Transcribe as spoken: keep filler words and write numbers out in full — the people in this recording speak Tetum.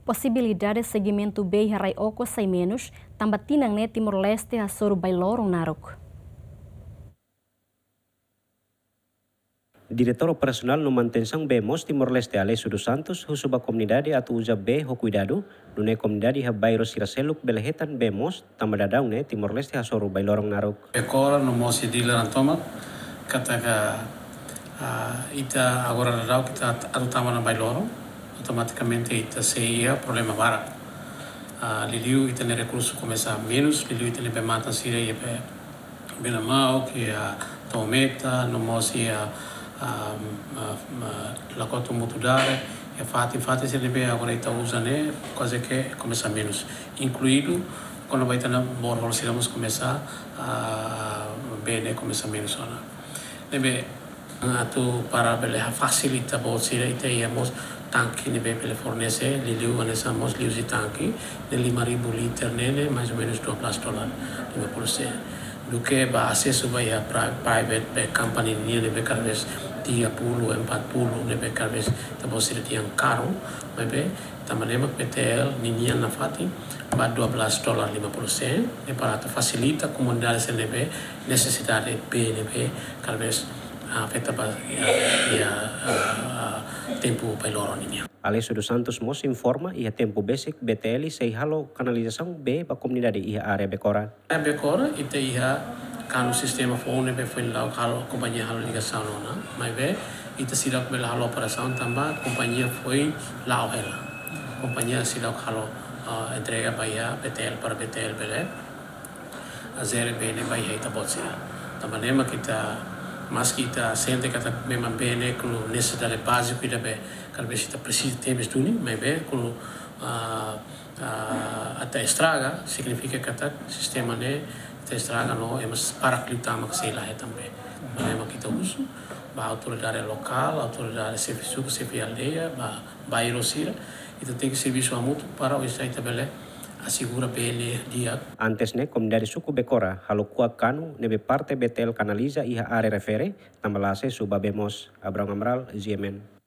posibilidade segimentu bee iha rai-okos sai menus, tanba tinan ne'e Timor-Leste hasoru bailoron naruk. Diretór Operasionál no Manutensaun Bee Moos Timor-Leste, Alessio dos Santos, husu ba komunidade atu uza bee ho kuidadu, nune'e komunidade iha bairru sira seluk bele hetan bee moos, tanba daudaun ne'e Timor-Leste hasoru bailoron naruk. Bekora no mós iha dilaran tomak, katak, ah, ita agora daudaun ita atu tama ona bailoron, automatikamente ita sei iha problema barak. Ah, liuliu ita-nia rekursu komesa menus, liuliu ita-nia bee-matan sira iha bee, bee-matan, iha toometa, no mós iha, ah, ah, ah, Lakoto Mutudare, iha fatin-fatin sira ne'ebé agora ita uza ne'e, kuaze ke komesa menus. Inkluidu, kona-ba ita-nia borehole sira mós komesa, ah, bee ne'e komesa menus ona. Ne'ebé, atu para bele fasilita boot sira, ita iha mós tanke ne'ebé bele fornese, liuliu hanesan mós liuhusi tanke, ne'e lima ribu liter ne'e, ne'e mais ou menus dua belas dolar, lima puluh sen. Duké ba asesu ba iha pri-, private bee company nian ne'ebé kada vez tiga puluh, empat puluh, ne'ebé kada vez ita-boot sira dehan karu, maibé tanba ne'e mak B T L ninian nafatin ba dua belas dolar lima puluh sen, ne'e para atu fasilita komunidade sira ne'ebé nesesidade bee ne'ebé kada vez afeta ba iha, iha, ah, tempu bailoron ninian. Alessio dos Santos mós informa iha tempu besik B T L sei halo kanalizasaun bee ba komunidade iha área Bekora. Iha Bekora, ita iha kanu sistema foun ne'ebé foin la'o halo, kompañia halo ligasaun ona. Maibé, ita seidauk bele halo operasaun tanba kompañia foin la'o hela. Kompañia seidauk halo, ah, entrega ba iha B T L para B T L bele, ah, jere bee ne'e ba iha ita-boot sira. Tanba ne'e mak ita, maski ita sente katak memang bee ne'e kulu nesesidade báziku ida be, kada vez ita presiza tebes duni, maibé kulu, ah, ah, ita estraga, signifika katak sistema ne'e ita estraga no ema barak liután mak sei la hetan bee. Maibé mak ita husu ba autoridade lokál, autoridade xefe suku, xefe aldeia, ba bairru sira, ita tenke servisu hamutuk para oinsá ita bele asegura bee ne'e di'ak. Antes ne'e, komunidade suku Bekora halo kuak kanu ne'ebé parte B T L kanaliza iha área refere, tanba la asesu ba bee moos. Abrão Amaral, G M N.